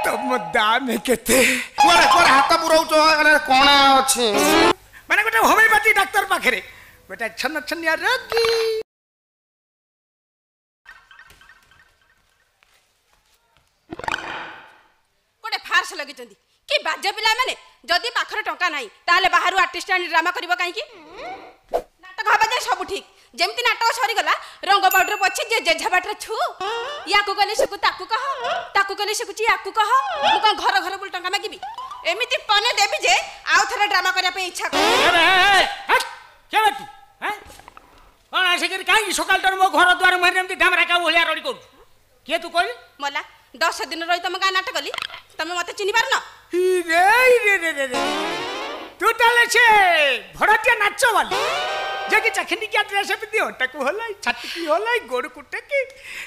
ତମ ଦାମ କେତେ? କୁଆଡ଼େ କୁଆଡ଼େ ହାତ ପୁରଉଛ? କଣା ଅଛି। ମାନେ ଗୋଟେ ହୋମିଓପାଥି ଡାକ୍ତର ପାଖରେ ଗୋଟେ ଛନ ଛନିଆ ରୋଗୀ। ଗୋଟେ ଫାର୍ସ ଲଗେଇଛନ୍ତି କି ବାଜେ ପିଲାମାନେ। ଯଦି ପାଖରେ ଟଙ୍କା ନାହିଁ ତାହେଲେ ବାହାରୁ ଆର୍ଟିଷ୍ଟ ଆଣି ଡ୍ରାମା କରିବ କାହିଁକି? ନାଟକ ହବା ଯାଏ ସବୁ ଠିକ, ଯେମିତି ନାଟକ ସରିଗଲା ରଙ୍ଗ ପାଉଡର ପଛେ ଯେ ଜେଝା ବାଟରେ ଛୁ। ୟାକୁ କହିଲେ ଶିଖୁ ତାକୁ କହ, ତାକୁ କହିଲେ ଶିଖୁଛି ୟାକୁ କହ। ମୁଁ କଣ ଘର ଘର ବୁଲି ଟଙ୍କା ମାଗିବି? ଏମିତି ପନେ ଦେବି ଯେ ଆଉ ଥରେ ଡ୍ରାମା କରିବା ପାଇଁ ଇଚ୍ଛା କଣ ଆସିକରି କାହିଁକି ସକାଳଟାରୁ ମୋ ଘର ଦ୍ୱାର ମୁହଁରେ ଏମିତି ଡାମରା କାଉ ଭଳିଆ ରଡ଼ି କରୁଛୁ? କିଏ ତୁ କହିଲି? ମଲା, 10 ଦିନ ରହି ତମ ଗାଁ ନାଟକ କଲି, ତମେ ମତେ ଚିହ୍ନି ପାରୁନ? ତୁ ତାହେଲେ ସେ ଭଡ଼ାଟିଆ ନାଚ ବାଲି ଯେ କି ଚାଖିନିକିଆ ଡ୍ରେସ୍ ପିନ୍ଧି ଅଣ୍ଟାକୁ ହଲାଇ ଛାତିକି ହଲାଇ ଗୋଡ଼କୁ ଟେକି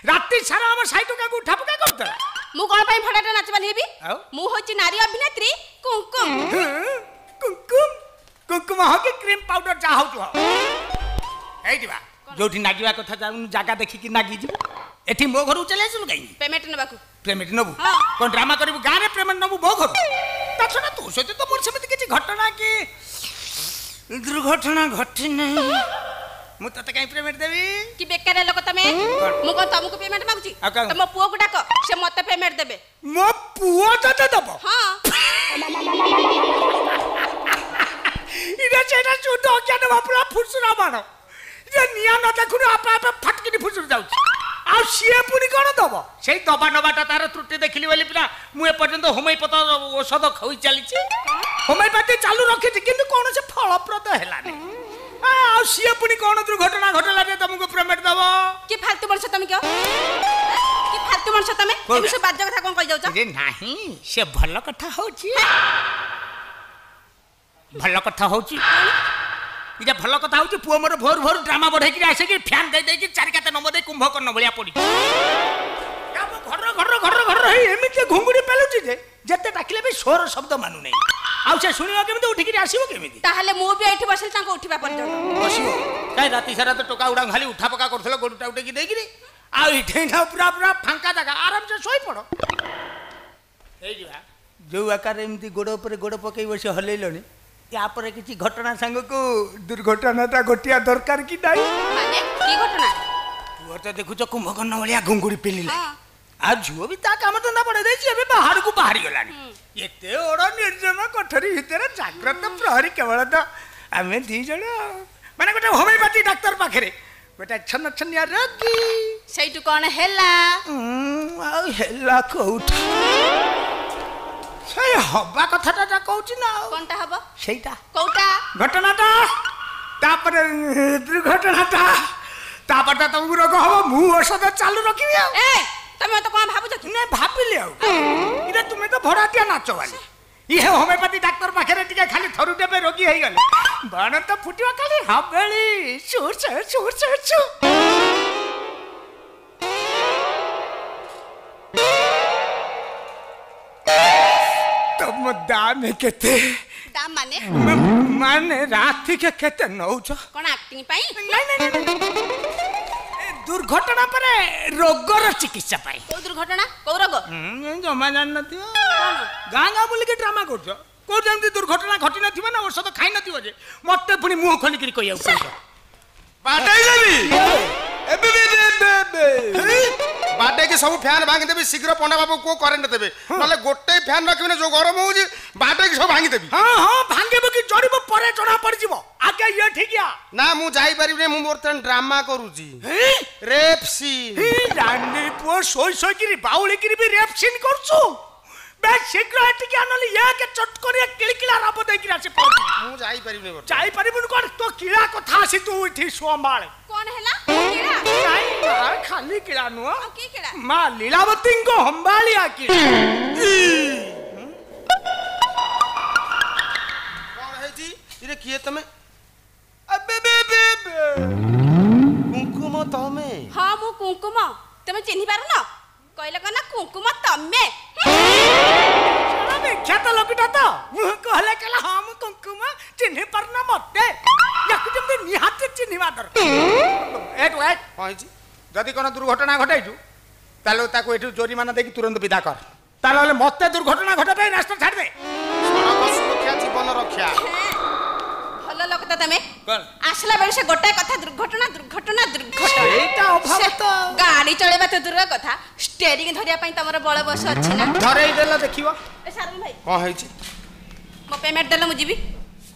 ରାତି ସାରା ଆମ ସାଇ ଟୋକାକୁ ଉଠା ପକା କରୁଥିଲା? ମୁଁ କଣ ପାଇଁ ଭଡ଼ାଟିଆ ନାଚ ବାଲି ହେବି? ମୁଁ ହଉଛି ନାରୀ ଅଭିନେତ୍ରୀ କୁଙ୍କୁମ। କୁଙ୍କୁମ? କୁଙ୍କୁମ ହଉ କି କ୍ରିମ୍ ପାଉଡର ଯାହା ହଉଛୁ ହଉ, ଏଇଠି ବା ଯୋଉଠି ନାଗିବା କଥା ଯାଉନୁ, ଜାଗା ଦେଖିକି ନାଗିଯିବୁ। ଏଠି ମୋ ଘରକୁ ଚାଲି ଆସିଲୁ କାହିଁକି? ପେମେଣ୍ଟ ନେବାକୁ। ପେମେଣ୍ଟ ନେବୁ? କଣ ଡ୍ରାମା କରିବୁ ଗାଁରେ ପେମେଣ୍ଟ ନେବୁ ମୋ ଘରୁ? ତା ଛଡ଼ା ତୋ ସହିତ ତ ମୋର ସେମିତି କିଛି ଘଟଣା କି ଦୁର୍ଘଟଣା ଘଟିନି, ମୁଁ ତତେ କାହିଁ ପେମେଣ୍ଟ ଦେବି? କି ବେକାରିଆ ଲୋକ ତମେ! ମୁଁ କଣ ତମକୁ ପେମେଣ୍ଟ ମାଗୁଛି? ତମ ପୁଅକୁ ଡାକ, ସେ ମତେ ପେମେଣ୍ଟ ଦେବେ। ମୋ ପୁଅ ତତେ ଦବ? ହଁ। ଇରେ ସେଇଟା ଶୁଦ୍ଧ ଅଜ୍ଞାନ ବାପୁରା ଫୁସୁରା ବାଣ ଯେ ନିଆଁ ନ ଦେଖୁନୁ ଆପେ ଆପେ ଫଟକିନି ଫୁସୁରି ଯାଉଛି। ଆଉ ସିଏ ପୁଣି କଣ ଦବ? ସେଇ ଦବା ନବାଟା ତାର ତ୍ରୁଟି ଦେଖିଲି ବୋଲି ପିଲା ମୁଁ ଏପର୍ଯ୍ୟନ୍ତ ହୋମିଓପାଥ ଔଷଧ ଖୋଇ ଚାଲିଛି, ହୋମିଓପାଥି ଚାଲୁ ରଖିଛି, କିନ୍ତୁ କୌଣସି ଫଳପ୍ରଦ ହେଲାନି। ଆଉ ସିଏ ପୁଣି କଣ ଦୁର୍ଘଟଣା ଘଟିଲା ଯେ ତମକୁ ପେମେଣ୍ଟ ଦବ? କି ଫାଲତୁ ମଣିଷ ତମେ, କି ଫାଲତୁ ମଣିଷ ତମେ! ଏମିତି ସବୁ ବାଜେ କଥା କଣ କହିଯାଉଛ? ନାହିଁ, ସେ ଭଲ କଥା ହଉଛି, ଭଲ କଥା ହଉଛି। ଏଇଟା ଭଲ କଥା ହଉଛି? ପୁଅ ମୋର ଭୋରୁ ଭୋରୁ ଡ୍ରାମା ବଢେଇକିରି ଆସିକି ଫ୍ୟାନ୍ ଦେଇ ଦେଇକି ଚାରି କାତେ ନମ୍ବର ଦେଇ କୁମ୍ଭକର୍ଣ୍ଣ ଭଳିଆ ପଡିଛି। ଘର ଘର ଘର ଘର ହେଇ ଏମିତି ଘୁଙ୍ଗୁଡ଼ି ପେଲୁଛି ଯେ ଯେତେ ଡାକିଲେ ବି ସ୍ୱର ଶବ୍ଦ ମାନୁନାହିଁ। ଆଉ ସେ ଶୁଣିବ କେମିତି, ଉଠିକିରି ଆସିବ କେମିତି? ତାହେଲେ ମୁଁ ବି ଏଇଠି ବସିଲି ତାଙ୍କୁ ଉଠିବା ପର୍ଯ୍ୟନ୍ତ। ବସିବ କାଇଁ? ରାତି ସାରା ତ ଟୋକା ଗୁଡା ଖାଲି ଉଠା ପକା କରୁଥିଲେ ଗୋଡ଼ଟା ଉଠେଇକି ଦେଇକିରି। ଆଉ ଏଠି ନା ପୁରା ପୁରା ଫାଙ୍କା ଜାଗା, ଆରାମସେ ଶୋଇପଡ଼। ହେଇଯିବା ଯୋଉ ଆକାରରେ ଏମିତି ଗୋଡ଼ ଉପରେ ଗୋଡ଼ ପକେଇ ବସି ହଲେଇଲଣି, ତାପରେ କିଛି ଘଟଣା ସାଙ୍ଗକୁ ଦୁର୍ଘଟଣାଟା ଘଟିବା ଦରକାର କି ନାହିଁ? ମାନେ କି ଘଟଣା? ପୁଅ ତ ଦେଖୁଛ କୁମ୍ଭକର୍ଣ୍ଣ ଭଳିଆ ଘୁଙ୍ଗୁଡ଼ି ପେଲିଲା, ଆଉ ଝିଅ ବି ତା କାମ ଧନ୍ଦା ବଢ଼େଇ ଦେଇଛି, ଏବେ ବାହାରକୁ ବାହାରି ଗଲାଣି। ଏତେ ବଡ଼ ନିର୍ଜନ କୋଠରୀ ଭିତରେ ଜାଗ୍ରତ ପ୍ରହରୀ କେବଳ ତ ଆମେ ଦି ଜଣ। ମାନେ ଗୋଟେ ହୋମିଓପାଥି ଡାକ୍ତର ପାଖରେ ଗୋଟେ ଛନ ଛନିଆ ରୋଗୀ। ସେଇଠୁ କଣ ହେଲା? ଆଉ ହେଲା କୋଉଠି, ସେଇ ହବା କଥାଟା ଯା କହୁଛି ନା। ଆଉ କଣଟା ହବ? ସେଇଟା। କୋଉଟା? ଘଟଣାଟା, ତାପରେ ଦୁର୍ଘଟଣାଟା, ତାପରେ ତ ତମକୁ ରୋଗ ହବ, ମୁଁ ଔଷଧ ଚାଲୁ ରଖିବି। ଆଉ ତମେ ମତେ କଣ ଭାବୁଛ କି? ନାଇଁ, ଭାବିଲି ଆଉ ଇରେ ତୁମେ ତ ଭଡ଼ାଟିଆ ନାଚ ବାଲି, ଇଏ ହୋମିଓପାଥି ଡାକ୍ତର ପାଖରେ ଟିକେ ଖାଲି ଥରୁଟେ ରୋଗୀ ହେଇଗଲେ ବାଣ ତ ଫୁଟିବ ଖାଲି ହାବେଳି ସୁ ସୁ ସୁ ସୁ। ତମ ଦାମ କେତେ? ଦାମ ମାନେ? ମାନେ ରାତିକେ କେତେ ନଉଛ? କଣ ଆକ୍ଟିଂ ପାଇଁ? ନାଇଁ ନାଇଁ, ଦୁର୍ଘଟଣା ପରେ ରୋଗର ଚିକିତ୍ସା ପାଇଁ। କୋଉ ଦୁର୍ଘଟଣା, କୋଉ ରୋଗ? ଜମା ଜାଣିନଥିବ? ଗାଁ ଗାଁ ବୁଲିକି ଡ୍ରାମା କରୁଛ, କୋଉ ଯେମିତି ଦୁର୍ଘଟଣା ଘଟି ନଥିବ ନା ଔଷଧ ଖାଇ ନଥିବ ଯେ ମତେ ପୁଣି ମୁହଁ ଖୋଲିକିରି କହିବାକୁ ପଡ଼ିବ। ବାଡେଇ ଦେବି ଏବେ ବାଡେଇକି ସବୁ ଫ୍ୟାନ୍ ଭାଙ୍ଗିଦେବି। ଶୀଘ୍ର ପଣ୍ଡା ବାବୁ କୁହ କରେଣ୍ଟ ଦେବେ, ନହେଲେ ଗୋଟେ ଫ୍ୟାନ୍ ରଖିବିନି। ଯୋଉ ଗରମ ହଉଛି ବାଡେଇକି ସବୁ ଭାଙ୍ଗିଦେବି। ହଁ ହଁ, ଭାଙ୍ଗିବ କି ଜଳିବ ପରେ ଜଣା ପଡିଯିବ, ଆଗେ ଇଏ ଠିକିଆ। ନା, ମୁଁ ଯାଇପାରିବିନି, ମୁଁ ବର୍ତ୍ତମାନ ଡ୍ରାମା କରୁଛି, ରେପ୍ ସିନ୍। ରାଣ୍ଡି ପୁଅ, ଶୋଇ ଶୋଇକିରି ବାଉଳିକିରି ବି ରେପ୍ ସିନ୍ କରୁଛୁ? ବେଶ ଶୀଘ୍ର ଏଠିକି ନହେଲେ ଏକ ଚଟ କରି କିଳିକିଳା ରାବ ଦେଇକିରି ଆସି ପହଞ୍ଚିବି। ମୁଁ ଯାଇପାରିବିନି। ଯାଇପାରିବୁନି କଣ? ତୋ କିଳା କଥା ଆସି ତୁ ଏଠି ସମ୍ଭାଳେ। କଣ ହେଲା? ନାଇଁ ମା, ଖାଲି କିଳା ନୁହଁ, ମା ଲୀଳାବତୀଙ୍କ ହମ୍ବାଳିଆ କିଳା। କଣ ହେଇଛି ଇରେ? କିଏ ତମେ? କୁଙ୍କୁମ ତମେ? ହଁ, ମୁଁ କୁଙ୍କୁମ। ତମେ ଚିହ୍ନି ପାରୁନ? କହିଲେ କଣ ନା କୁଙ୍କୁମ ତମେ? ବିଖ୍ୟାତ ଲୋକଟା ତ ମୁଁ କହିଲେ, କହିଲା ହଁ ମୁଁ କୁଙ୍କୁମ, ଚିହ୍ନି ପାରୁନ ମତେ? ୟାକୁ ଯେମିତି ନିହାତି ଚିହ୍ନିବା ଦରକାର। ଏଠୁ କଣ ହେଇଛି? ଯଦି କଣ ଦୁର୍ଘଟଣା ଘଟାଇଛୁ ତାହେଲେ ତାକୁ ଏଠୁ ଜୋରିମାନା ଦେଇକି ତୁରନ୍ତ ବିଦା କର। ତାହେଲେ ମତେ ଦୁର୍ଘଟଣା ଘଟା ପାଇଁ ରାସ୍ତା ଛାଡ଼ିଦେ। ସଡ଼କ ସୁରକ୍ଷା ଜୀବନ ରକ୍ଷା। ଭଲ ଲୋକ ତ ତମେ। ଆସିଲା ବେଳେ ସେ ଗୋଟାଏ କଥା, ଦୁର୍ଘଟଣା ଦୁର୍ଘଟଣା ଦୁର୍ଘଟଣା। ସେଇଟା ଅଭାବ ତ। ଗାଡି ଚଳେଇବା ତ ଦୂର କଥା, ଷ୍ଟେରିଂ ଧରିବା ପାଇଁ ତମର ବଳ ବସ ଅଛି ନା? ଧରେଇ ଦେଲ ଦେଖିବ। ଏ ସାରଙ୍ଗ ଭାଇ, କଣ ହେଇଛି? ମୋ ପେମେଣ୍ଟ ଦେଲେ ମୁଁ ଯିବି।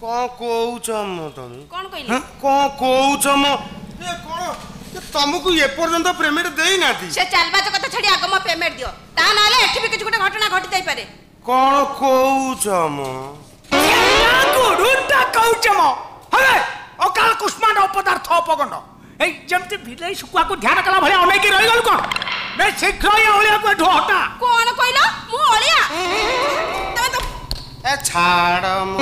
କଣ କହୁଛ ମ ତମେ? କଣ କହିଲି? କଣ କହୁଛ ମ? ଏ କଣ ତମକୁ ଏପର୍ଯ୍ୟନ୍ତ ପେମେଣ୍ଟ ଦେଇନାହାନ୍ତି? ସେ ଚାଲବାଜ କଥା ଛାଡି ଆଗ ମୋ ପେମେଣ୍ଟ ଦିଅ, ତା ନହେଲେ ଏଠି ବି କିଛି ଗୋଟେ ଘଟଣା ଘଟି ଯାଇପାରେ। କଣ କହୁଛ ମ? ଗୁରୁଟା କହୁଛ ମ? ହେ ଅକାଳ କୁଷ୍ମାଣ୍ଡ ଅପଦାର୍ଥ ଅପଗଣ୍ଡ, ଏଇ ଯେମିତି ବିଲେଇ ଶୁଖୁଆକୁ ଧ୍ୟାନ କଲା ଭଳିଆ ଅନେଇକି ରହିଗଲୁ କଣ? ବେ ଶୀଘ୍ର ଏ ଅଳିଆକୁ ଏଠୁ ହଟା। କଣ କହିଲ? ମୁଁ ଅଳିଆ? ତମେ ତ ଏ ଛାଡ଼ ମ,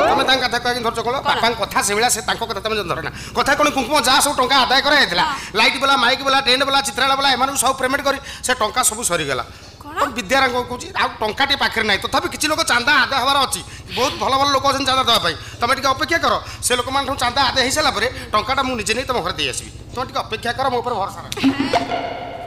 ତମେ ତାଙ୍କ କଥା କହିକି ଧରୁଛ କଣ? ବାପାଙ୍କ କଥା ସେଇଭଳିଆ, ସେ ତାଙ୍କ କଥା ତମେ ଧର ନା। କଥା କଣ, କୁଙ୍କୁମ ଯାହା ସବୁ ଟଙ୍କା ଆଦାୟ କରାଯାଇଥିଲା, ଲାଇଟ୍ ବାଲା, ମାଇକ୍ ବାଲା, ଟେଣ୍ଟ ବାଲା, ଚିତ୍ରାଳ ବାଲା, ଏମାନଙ୍କୁ ସବୁ ପେମେଣ୍ଟ କରି ସେ ଟଙ୍କା ସବୁ ସରିଗଲା। ବିଦ୍ୟାରାଙ୍କ କହୁଛି, ଆଉ ଟଙ୍କାଟେ ପାଖରେ ନାହିଁ। ତଥାପି କିଛି ଲୋକ ଚାନ୍ଦା ଆଦାୟ ହେବାର ଅଛି, ବହୁତ ଭଲ ଭଲ ଲୋକ ଅଛନ୍ତି ଚାନ୍ଦା ଦେବା ପାଇଁ। ତମେ ଟିକେ ଅପେକ୍ଷା କର, ସେ ଲୋକମାନଙ୍କ ଚାନ୍ଦା ଆଦାୟ ହେଇସାରିଲା ପରେ ଟଙ୍କାଟା ମୁଁ ନିଜେ ନେଇ ତମ ଘରେ ଦେଇ ଆସିବି। ତମେ ଟିକେ ଅପେକ୍ଷା କର, ମୋ ଉପରେ ଭରସା ରଖ।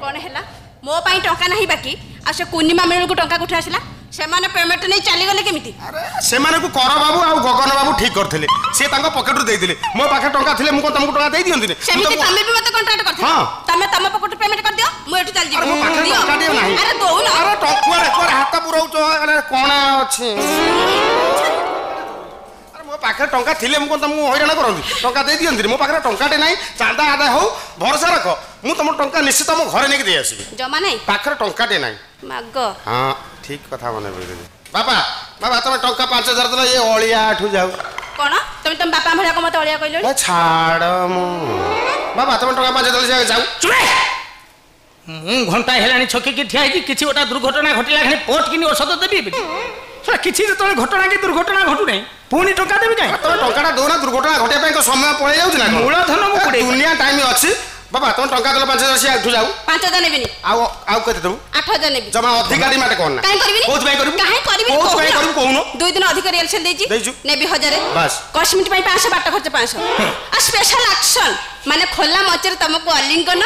କଣ ହେଲା? ମୋ ପାଇଁ ଟଙ୍କା ନାହିଁ ବାକି, ଆଉ ସେ ପୂର୍ଣ୍ଣିମା ମେଳକୁ ଟଙ୍କା କୋଉଠି ଆସିଲା? ସେମାନେ ପେମେଣ୍ଟ ନେଇ ଚାଲିଗଲେ କେମିତି? ଆରେ ସେମାନଙ୍କୁ କର ବାବୁ ଆଉ ଗଗନ ବାବୁ ଠିକ କରିଥିଲେ, ସେ ତାଙ୍କ ପକେଟରୁ ଦେଇଥିଲେ। ମୋ ପାଖରେ ଟଙ୍କା ଥିଲେ ମୁଁ କଣ ତମକୁ ଟଙ୍କା ଦେଇ ଦିଅନ୍ତିନି? ସେମିତି ତମେ ବି ମତେ କଣ୍ଟ୍ରାକ୍ଟ କରିଥିଲ। ତମେ ତମ ପକେଟରୁ ପେମେଣ୍ଟ କରିଦିଅ, ମୁଁ ଏଠୁ ଚାଲିଯିବି। ମୋ ପାଖରେ ଟଙ୍କାଟିଏ ନାହିଁ। ଆରେ ଦଉନ। ଆରେ କୁଆଡେ କୁଆଡେ ହାତ ପୁରଉଛ? ଆରେ କଣ ଅଛି? ଆରେ ମୋ ପାଖରେ ଟଙ୍କା ଥିଲେ ମୁଁ କଣ ତମକୁ ହଇରାଣ କରନ୍ତି, ଟଙ୍କା ଦେଇ ଦିଅନ୍ତିନି? ମୋ ପାଖରେ ଟଙ୍କାଟେ ନାହିଁ। ଚାନ୍ଦା ଆଦାୟ ହଉ, ଭରସା ରଖ, ମୁଁ ତମ ଟଙ୍କା ନିଶ୍ଚିତ ମୋ ଘରେ ନେଇକି ଦେଇ ଆସିବି। ଜମା ନାହିଁ ପାଖରେ, ଟଙ୍କାଟେ ନାହିଁ। ମାଗ। ହଁ ଠିକ କଥା ମନେ ପକେଇଦେଲି। ବାପା ବାବା, ତମେ ଟଙ୍କା 5000 ଦେଲ, ଏ ଅଳିଆ ଏଠୁ ଯାଉ। କଣ ତମେ ତମ ବାପା ଭଳିଆ ମତେ ଅଳିଆ କହିଲଣି? ଛାଡ଼ ମୁଁ। ବାବା ତମେ ଟଙ୍କା 5000 ଦେଲେ ଯାଉ। ମୁଁ ଘଣ୍ଟା ହେଲାଣି ଛକିକି ଠିଆ ହେଇଛି, କିଛି ଗୋଟେ ଦୁର୍ଘଟଣା ଘଟିଲା ଖାଲି ପଟ କିନି ଔଷଧ ଦେବି। କିଛି ଯେତେବେଳେ ଘଟଣା କି ଦୁର୍ଘଟଣା ଘଟୁନାହିଁ, ପୁଣି ଟଙ୍କା ଦେବି କାହିଁ? ତମେ ଟଙ୍କାଟା ଦଉନା, ଦୁର୍ଘଟଣା ଘଟିବା ପାଇଁ ସମୟ ପଳେଇ ଯାଉଛି ନା? ମୂଳଧନ ମୁଁ ଦୁନିଆ ଟାଇମ୍ ଅଛି। ବାବା ତମେ ଟଙ୍କା ଦେଲ 5000, ସିଏ ଏଠୁ ଯାଉ। 5000 ନେବିନି। ଆଉ ଆଉ କେତେ ଦେବୁ? 8000 ନେବି। ଜମା ଅଧିକା ଡିମାଣ୍ଡ କର ନା। କାଇଁ କରିବିନି? କୋଉଥିପାଇଁ କରିବୁ? କାଇଁ କରିବିନି? କୋଉଥିପାଇଁ କରିବୁ କହୁନ? 2 ଦିନ ଅଧିକ ରିହର୍ସାଲ ଦେଇଛି, ନେବି 1000 ବାସ୍। କସ୍ମେଟିକ୍ ପାଇଁ 500, ବାଟ ଖର୍ଚ୍ଚ 500, ଆଉ ସ୍ପେଶାଲ ଆକ୍ସନ ମାନେ ଖୋଲା ମଞ୍ଚରେ ତମକୁ ଅଲିଙ୍ଗନ,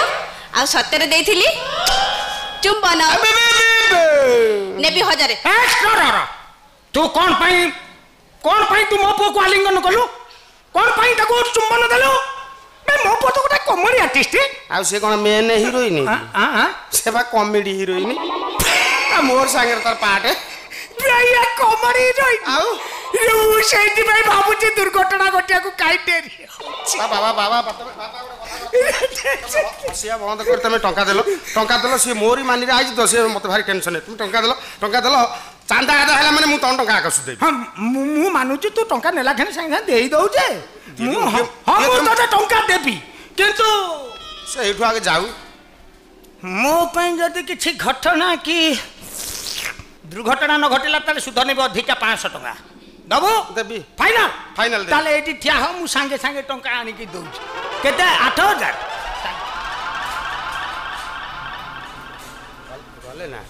ଆଉ ସତରେ ଦେଇଥିଲି ଚୁମ୍ବନ, ନେବି 1000। ତୁ କଣ ପାଇଁ, କଣ ପାଇଁ ତୁ ମୋ ପୁଅକୁ ଆଲିଙ୍ଗନ କଲୁ? କଣ ପାଇଁ ତାକୁ ଚୁମ୍ବନ ଦେଲୁ? ମୋ ପୁଅ ତ ଗୋଟେ କମେଡି ଆର୍ଟିଷ୍ଟ। ଆଉ ସେ କଣ ମେନ୍ ହିରୋଇନ? ସେ ବା କମେଡି ହିରୋଇନ, ମୋର ସାଙ୍ଗରେ ତାର ପାର୍ଟ। Comedy heroine? ଆଉ ମୁଁ ସେଇଥିପାଇଁ ଭାବୁଛି ଦୁର୍ଘଟଣା ଘଟିବାକୁ କାଇଁ ଡେରି। ବାବା ବାବା ହସିବା ବନ୍ଦ କରି ତମେ ଟଙ୍କା ଦେଲ, ଟଙ୍କା ଦେଲ। ସିଏ ମୋରି ମାନିରେ ଆଇଛି ତ, ସିଏ ମତେ ଭାରି ଟେନସନ। ତୁମେ ଟଙ୍କା ଦେଲ, ଟଙ୍କା ଦେଲ, ଚାନ୍ଦା ଆଦାୟ ହେଲା ମାନେ ମୁଁ ତମ ଟଙ୍କା ଆଗ ସୁଧେଇବି। ହଁ ମୁଁ ମାନୁଛି, ତୁ ଟଙ୍କା ନେଲା କ୍ଷଣି ସାଙ୍ଗେ ସାଙ୍ଗେ ଦେଇ ଦଉଛେ। ମୁଁ ହଁ ମୁଁ ତୋତେ ଟଙ୍କା ଦେବି, କିନ୍ତୁ ସେ ଏଇଠୁ ଆଗେ ଯାଉ। ମୋ ପାଇଁ ଯଦି କିଛି ଘଟଣା କି ଦୁର୍ଘଟଣା ନ ଘଟିଲା, ତାହେଲେ ସୁଧ ନେବି ଅଧିକା 500 ଟଙ୍କା। ଦବୁ? ଦେବି। ଫାଇନାଲ? ଫାଇନାଲ। ତାହେଲେ ଏଇଠି ଠିଆ ହ, ମୁଁ ସାଙ୍ଗେ ସାଙ୍ଗେ ଟଙ୍କା ଆଣିକି ଦଉଛି। କେତେ? 8000। ଗଲେ ନା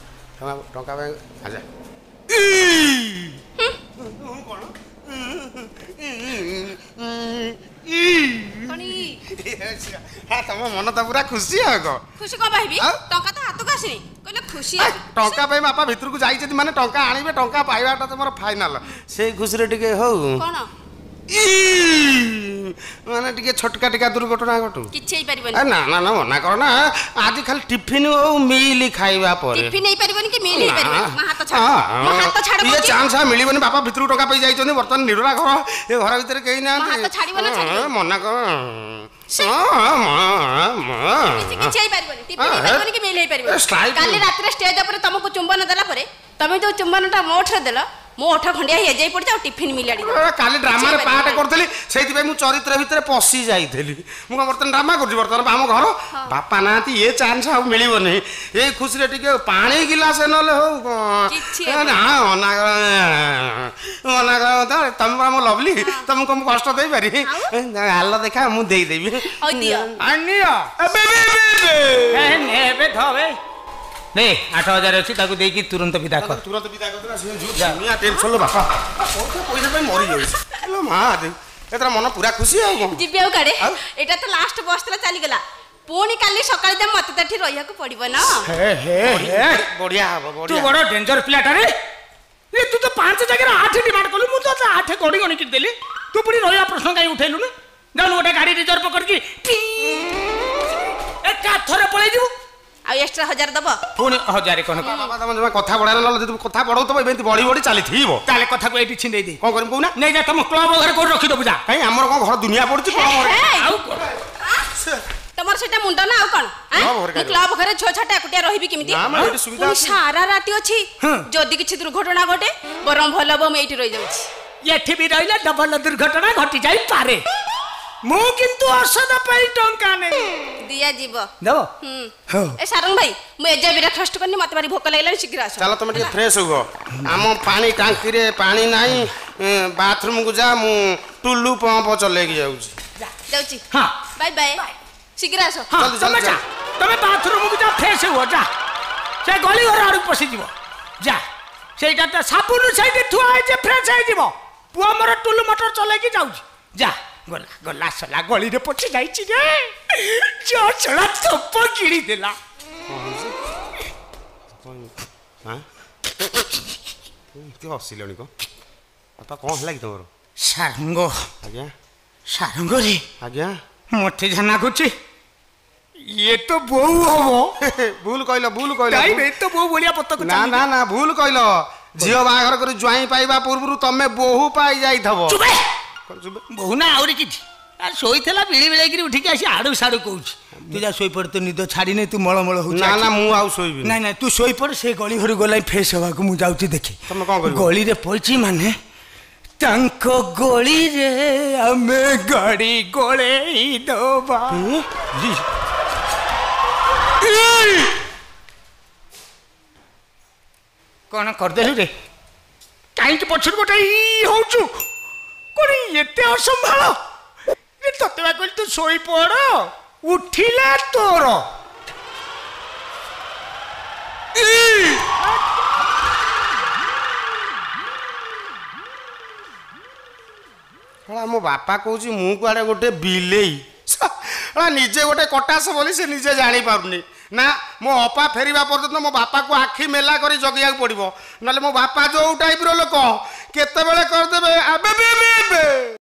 ଟଙ୍କା ପାଇଁ? ଆଚ୍ଛା ତମ ମନ ତ ପୁରା ଖୁସି। ଆଉ କଣ ଖୁସି? କଣ ପାଇବି? ଟଙ୍କା ତ ହାତକୁ ଆସିନି, କହିଲେ ଖୁସି। ଟଙ୍କା ପାଇଁ ବାପା ଭିତରକୁ ଯାଇଛନ୍ତି ମାନେ ଟଙ୍କା ଆଣିବେ, ଟଙ୍କା ପାଇବାଟା ତମର ଫାଇନାଲ। ସେଇ ଖୁସିରେ ଟିକେ ହଉ। କଣ ମାନେ ଟିକେ ଛୋଟକା ଟିକା ଦୁର୍ଘଟଣା ଘଟୁ। କିଛି ହେଇପାରିବନି। ନା ନା ନା, ମନା କର ନା। ଆଜି ଖାଲି ଟିଫିନ ହଉ, ମିଲ୍ ଖାଇବା ପରେ। ଟିଫିନ ହେଇପାରିବନି କି ମିଲ୍ ହେଇପାରିବନି। ମୋ ହାତ ଛାଡ, ମୋ ହାତ ଛାଡ। ଇଏ ଚାନ୍ସ ଆଉ ମିଳିବନି। ବାପା ଭିତରକୁ ଟଙ୍କା ପାଇ ଯାଇଛନ୍ତି, ବର୍ତ୍ତମାନ ନିରୋଳା ଘର, ଏ ଘର ଭିତରେ କେହି ନାହାନ୍ତି। ହାତ ଛାଡିବ ନା ଛାଡିବ? ମନା କର। କିଛି ହେଇପାରିବନି, ଟିଫିନ ହେଇପାରିବନି କି ମିଲ୍ ହେଇପାରିବନି। କାଲି ରାତିରେ ଷ୍ଟେଜ ଉପରେ ତମକୁ ଚୁମ୍ବନ ଦେଲା ପରେ ତମେ ଯୋଉ ଚୁମ୍ବନଟା ମୋ ଠାରେ ଦେଲ, ମୋ ଓଠ ଖଣ୍ଡିଆ ହେଇଯାଇ ପଡିଛି। ଆଉ ଟିଫିନ ମିଲାଡି କାଲି ଡ୍ରାମାରେ ପାର୍ଟ କରିଥିଲି, ସେଇଥିପାଇଁ ମୁଁ ଚରିତ୍ର ଭିତରେ ପଶି ଯାଇଥିଲି। ମୁଁ କଣ ବର୍ତ୍ତମାନ ଡ୍ରାମା କରୁଛି? ବର୍ତ୍ତମାନ ଆମ ଘର ବାପା ନାହାନ୍ତି, ଏ ଚାନ୍ସ ଆଉ ମିଳିବନି। ଏଇ ଖୁସିରେ ଟିକେ ପାଣି ଗିଲାସ ନହେଲେ ହଉ। ନା ମନା କର, ମନା କର। ତମେ ପରା ମୋ ଲଭଲି, ତମକୁ ମୁଁ କଷ୍ଟ ଦେଇପାରିବି? ହାଲ ଦେଖା, ମୁଁ ଦେଇଦେବି। ଏବେ ଥବେ ନେ, 8000 ଅଛି, ତାକୁ ଦେଇକି ତୁରନ୍ତ ବିଦା କର। ତୁରନ୍ତ ବିଦା କରିଦେଲା। ଟେନସନ ବାପା ପଇସା ପାଇଁ ମରିଯାଉଛି। ମା, ଏଥର ମନ ପୁରା ଖୁସି। ଆଉ କଣ ଯିବି ଆଉ କାଡେ? ଏଇଟା ତ ଲାଷ୍ଟ ବସ୍ ଥିଲା, ଚାଲିଗଲା। ପୁଣି କାଲି ସକାଳେ ଯାଏ ମତେ ତ ଏଠି ରହିବାକୁ ପଡିବ ନା। ବଢିଆ ହବ। ତୁ ବଡ ଡେଞ୍ଜର ପିଲାଟାରେ। ତୁ ତ 5 ଜାଗାରେ 8 ଡିମାଣ୍ଡ କଲୁ, ମୁଁ ତ 8 ଗଣି ଗଣିକି ଦେଲି। ତୁ ପୁଣି ରହିବା ପ୍ରଶ୍ନ କାହିଁ ଉଠେଇଲୁନି? ଯାଉନୁ ଗୋଟେ ଗାଡି ରିଜର୍ଭ କରିକି ଏକା ଥରେ ପଳେଇ ଯିବୁ। ଆଉ ଏକ୍ସଟ୍ରା 1000 ଦବ। ପୁଣି 1000 କଣ? ବାବା, ତମେ ଜମା କଥା ବଢାରେ, ନହେଲେ ଯଦି କଥା ବଢଉଥିବ ଏମିତି ବଢି ବଢି ଚାଲିଥିବ। ତାହେଲେ କଥାକୁ ଏଇଠି ଛିଣ୍ଡେଇ ଦେଇ କଣ କରିବୁ କହୁନା? ନେଇ ଯା, ତମ କ୍ଲବ ଘରେ କୋଉଠି ରଖିଦବୁ ଯା। କାଇଁ, ଆମର କଣ ଘର ଦୁନିଆ ପଡୁଛି କ୍ଲବ ଘରେ? ଆଉ ତମର ସେଟା ମୁଣ୍ଡ ନା ଆଉ କଣ? ମୁଁ କ୍ଲବ ଘରେ ଛଅ ଛଟା ଏକୁଟିଆ ରହିବି କେମିତି? ପୁଣି ସାରା ରାତି ଅଛି, ଯଦି କିଛି ଦୁର୍ଘଟଣା ଘଟେ? ବରଂ ଭଲ ହବ ମୁଁ ଏଇଠି ରହିଯାଉଛି। ଏଠି ବି ରହିଲେ ଡବଲ ଦୁର୍ଘଟଣା ଘଟି ଯାଇପାରେ। ମୁଁ କିନ୍ତୁ ଔଷଧ ପାଇଁ ଟଙ୍କା ନେବି। ଦିଆଯିବ। ଦେବ। ଏ ସାରଙ୍ଗ ଭାଇ, ମୁଁ ଏଯାଏ ବ୍ରେକଫାଷ୍ଟ କରିନି, ମତେ ଭାରି ଭୋକ ଲାଗିଲାଣି, ଶୀଘ୍ର ଆସ। ଚାଲ, ତମେ ଟିକେ ଫ୍ରେଶ ହୁଅ। ଆମ ପାଣି ଟାଙ୍କିରେ ପାଣି ନାହିଁ, ବାଥରୁମକୁ ଯା। ମୁଁ ଟୁଲୁ ପମ୍ପ ଚଲେଇକି ଯାଉଛି। ଯାଉଛି। ବାଇ ବାଇ, ଶୀଘ୍ର ଆସ। ତମେ ଯା, ତମେ ବାଥରୁମକୁ ଯା, ଫ୍ରେଶ ହୁଅ ଯା। ସେ ଗଳି ଘର ଆଡ଼କୁ ପଶିଯିବ ଯା। ସେଇଟା ତ ସାବୁନ ସେଇଠି ଥୁଆ ହେଇଛି, ଫ୍ରେଶ ହେଇଯିବ। ପୁଅ ମୋର ଟୁଲୁ ମଟର ଚଲେଇକି ଯାଉଛି ଯା। ଗଲା ଗଲା, ସଲା ଗଳିରେ ପଶି ଯାଇଛି ରେ। ଚଳା ଥୋପ ଗିଳିଦେଲା। ହସିଲଣି କଣ ବାପା? କଣ ହେଲା କି ତମର? ସାରଙ୍ଗ। ଆଜ୍ଞା। ସାରଙ୍ଗ ରେ। ଆଜ୍ଞା। ମତେ ଯାହା ଲାଗୁଛି ଇଏ ତ ବୋଉ ହବ। ଭୁଲ କହିଲ, ଭୁଲ କହିଲ। ତ ବୋଉ ଭଳିଆ ପତକ। ନା ନା ନା, ଭୁଲ କହିଲ। ଝିଅ ବାହାଘର କରି ଜ୍ୱାଇଁ ପାଇବା ପୂର୍ବରୁ ତମେ ବୋହୁ ପାଇ ଯାଇଥିବ। ବୋହୁ ନା ଆହୁରି କିଛି। ଶୋଇଥିଲା ବିଳି ବିଳେଇକିରି ଉଠିକି ଆସି ଆଡୁ ସାଡୁ କହୁଛି। ତୁ ଯା ଶୋଇପଡ଼, ତୁ ନିଦ ଛାଡ଼ିନି, ତୁ ମଳମଳ ହଉଛି। ନା ନା, ମୁଁ ଆଉ ଶୋଇବି। ନାଇଁ ନାଇଁ, ତୁ ଶୋଇପଡ଼। ସେ ଗଳି ଘରୁ ଗଲା ଫ୍ରେଶ ହବାକୁ, ମୁଁ ଯାଉଛି ଦେଖି। ତମେ କଣ କରିବ? ଗଳିରେ ପଡ଼ିଛି ମାନେ ତାଙ୍କ ଗଳିରେ ଆମେ ଗାଡ଼ି ଗୋଳେଇ ଦବା। କଣ କରିଦେଲୁ ରେ? କାହିଁକି ପଛରୁ ଗୋଟେ ଇ ହଉଛୁ? କଣ ଏତେ ଅସମ୍ଭାଳ? ତତେ ବା କହିଲି ତୁ ଶୋଇପଡ଼, ଉଠିଲା ତୋର। ମୋ ବାପା କହୁଛି ମୁଁ କୁଆଡ଼େ ଗୋଟେ ବିଲେଇ, ନିଜେ ଗୋଟେ କଟାସ ବୋଲି ସେ ନିଜେ ଜାଣିପାରୁନି। ନା, ମୋ ଅପା ଫେରିବା ପର୍ଯ୍ୟନ୍ତ ମୋ ବାପାକୁ ଆଖି ମେଲା କରି ଜଗିବାକୁ ପଡ଼ିବ, ନହେଲେ ମୋ ବାପା ଯୋଉ ଟାଇପ୍ର ଲୋକ କେତେବେଳେ କରିଦେବେ। ଆବେ।